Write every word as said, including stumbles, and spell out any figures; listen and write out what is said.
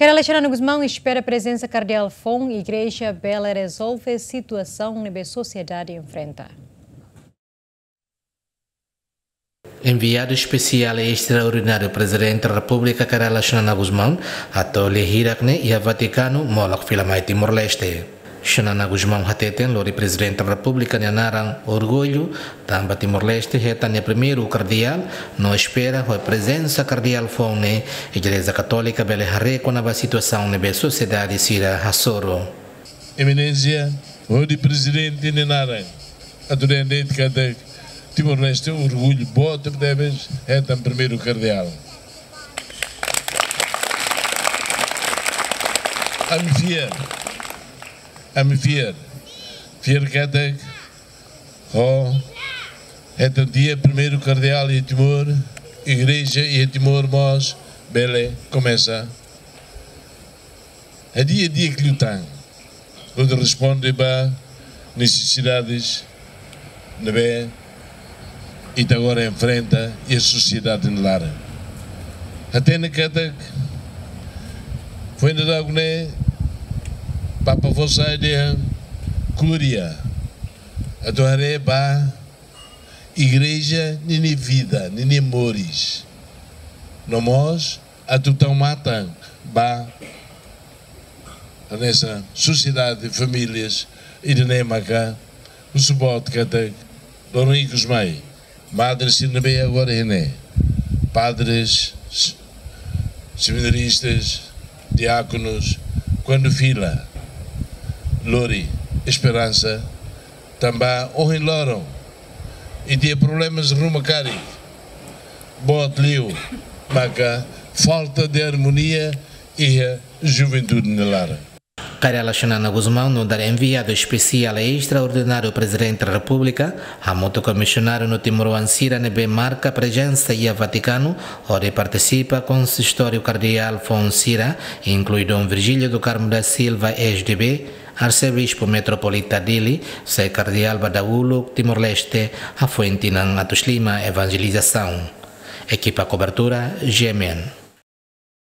Cardeal Xanana Gusmão espera prezensa kardeál foun igreja bele rezolve situasaun ne'ebé sosiedade enfrenta. Enviadu espesiál estraordináriu Prezidente Repúblika Cardeal Xanana Gusmão atu lia hirak ne'e iha Vatikanu molok fila mai Timor-Leste. Xanana Gusmão hateten lori Prezidente Repúblika nia naran orgullu, tanba Timor-Leste hetan nia primeiru kardeál, no espera ho prezensa kardeál foun ne'e Igreja Katólika bele haree kona-ba situasaun ne'ebé sosiedade sira hasoru. Eminénsia, hodi Prezidente nia naran atu dehan de'it katak Timor-Leste orgullu boot tebes hetan primeiru kardeál. Ami fiar, ami fiar, fiar katak ho hetan tiha primeiru kardeál iha Timor, igreja iha Timor mós bele komesa hadi'a di'ak liután, hodi responde ba nesesidades ne'ebé ita agora enfrenta iha sosiedade nia laran. Hatene katak foin dadauk ne'e Papa fó sai dehan kúria atu haree ba igreja ninia vida, ninia moris. No mós atu tau matan ba hanesan sosiedade, famílias, ida-ne'e maka husu boot katak loron ikus mai, madre sira ne'ebé agora iha ne'e, padres, s-, seminaristas, diákonos, kuandu fila lori esperansa, tanba ohin loron ita iha problemas ruma karik, boot liu maka falta de armonia iha juventude nia laran. Cardeal Xanana Gusmão nu'udar enviadu espesiál estraordináriu Prezidente Repúblika, hamutuk ho misionáriu no timoroan sira ne'ebé marka prezensa iha Vatikanu, hodi partisipa konsistóriu kardeál foun sira, inklui Dom Virgílio do Carmo da Silva, S D B, Arsebispu Metropolita Dili, sai kardeál ba dahuluk Timor-Leste, hafoin tinan atus lima evanjelizasaun. Ekipa kobertura, G M N.